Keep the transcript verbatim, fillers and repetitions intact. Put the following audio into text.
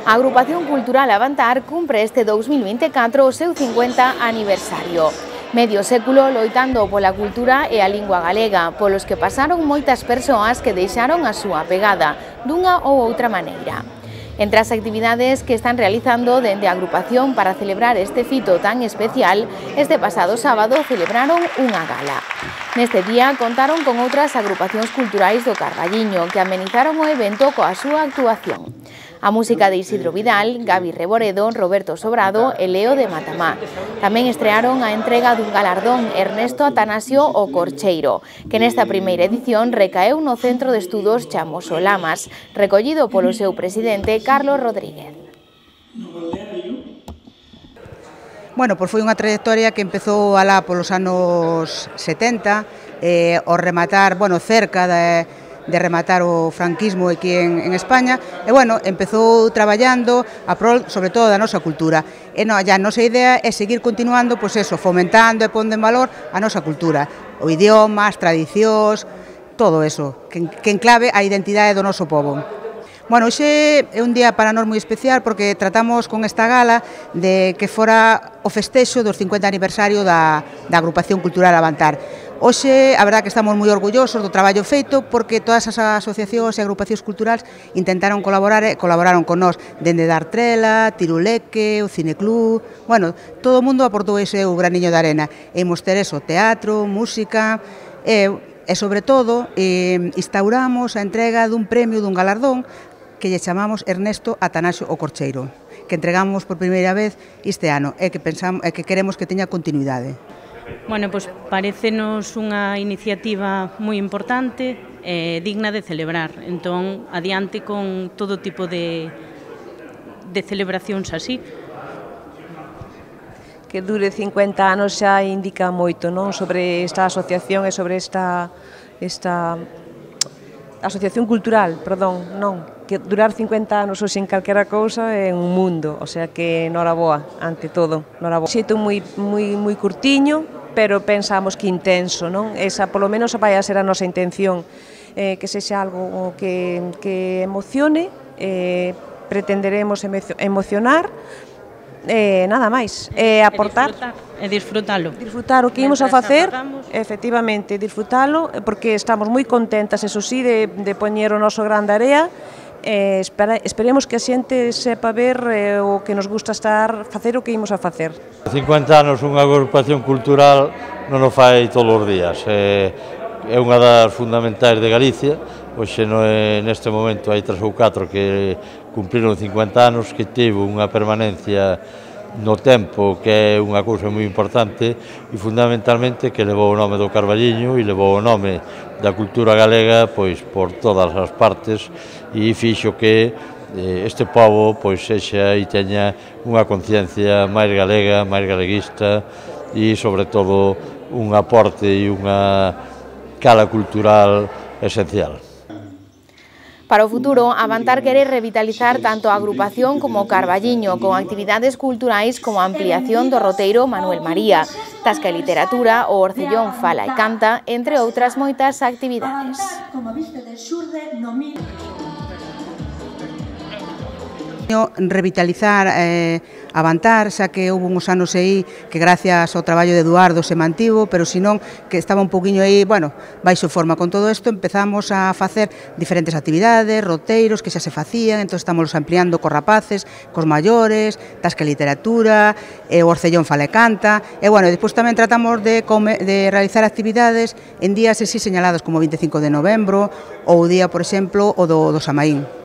A Agrupación Cultural Avantar cumpre este dous mil vinte e catro o seu cincuenta aniversario. Medio século loitando pola cultura e a lingua galega, polos que pasaron moitas persoas que deixaron a súa pegada, dunha ou outra maneira. Entre as actividades que están realizando dende a agrupación para celebrar este fito tan especial, este pasado sábado celebraron unha gala. Neste día contaron con outras agrupacións culturais do Carballiño que amenizaron o evento coa súa actuación. A música de Isidro Vidal, Gabi Reboredo, Roberto Sobrado e Leo de Matamá. Tamén estrearon a entrega dun galardón Ernesto Atanasio o Corcheiro, que nesta primeira edición recaeu no Centro de Estudos Chamoso Lamas, recollido polo seu presidente Carlos Rodríguez. Bueno, pois foi unha trayectoria que empezou alá polos anos setenta, eh, ao rematar, bueno, cerca de... de rematar o franquismo aquí en, en España, e, bueno, empezou traballando a prol, sobre todo, da nosa cultura. E no, a nosa idea é seguir continuando, pois eso, fomentando e pondo en valor a nosa cultura, o idioma, as tradicións, todo eso, que, que enclave a identidade do noso pobo. Bueno, hoxe é un día para nós moi especial porque tratamos con esta gala de que fora o festexo dos cincuenta aniversario da, da Agrupación Cultural Avantar. Hoxe, a verdade que estamos moi orgullosos do traballo feito porque todas as asociacións e agrupacións culturais intentaron colaborar e colaboraron con nós, dende Dartrela, Tiruleque, o Cineclub, bueno, todo o mundo aportou ese o graniño de arena. E imos ter eso, teatro, música, e, e sobre todo, eh, instauramos a entrega dun premio, dun galardón, que lle chamamos Ernesto Atanasio o Corcheiro, que entregamos por primeira vez este ano e que pensamos e que queremos que teña continuidade. Bueno, pois parécenos unha iniciativa moi importante e digna de celebrar. Entón, adiante con todo tipo de, de celebracións así. Que dure cincuenta anos xa indica moito, non? Sobre esta asociación e sobre esta, esta asociación cultural, perdón, non. Que durar cincuenta anos ou sin calquera cousa é un mundo, o sea que noraboa, ante todo, noraboa. Xeito moi, moi, moi curtiño, pero pensamos que intenso, non? Esa, polo menos, vai a ser a nosa intención, eh, que sexa algo que, que emocione, eh, pretenderemos emocionar, eh, nada máis, eh, aportar... E disfrutalo. Disfrutar o que imos a facer, efectivamente, disfrutalo, porque estamos moi contentas, eso sí, de, de poñer o noso gran area. Eh, espera, esperemos que a xente sepa ver eh, o que nos gusta estar, facer o que imos a facer. cincuenta anos unha agrupación cultural non o fai todos os días, é, é unha das fundamentais de Galicia. Hoxe no é, neste momento hai tres ou catro que cumpriron cincuenta anos, que tivo unha permanencia no tempo que é unha cousa moi importante e fundamentalmente que levou o nome do Carballiño e levou o nome da cultura galega pois por todas as partes e fixo que eh, este pobo pois sexa e teña unha conciencia máis galega, máis galeguista e sobre todo un aporte e unha cala cultural esencial. Para o futuro, Avantar quere revitalizar tanto a agrupación como o Carballiño, con actividades culturais como a ampliación do roteiro Manuel María, tasca e literatura, o Orcellón Fala e Canta, entre outras moitas actividades. Revitalizar eh, Avantar, xa que houve uns anos aí que gracias ao traballo de Eduardo se mantivo, pero senón que estaba un poquinho aí, bueno, baixo forma. Con todo isto empezamos a facer diferentes actividades, roteiros que xa se facían, entón estamos ampliando cos rapaces, cos maiores, tasca e literatura, e o Orcellón Fala e Canta, e bueno, despois tamén tratamos de, come, de realizar actividades en días así señalados como o vinte e cinco de novembro ou o día, por exemplo, o do, do Samaín.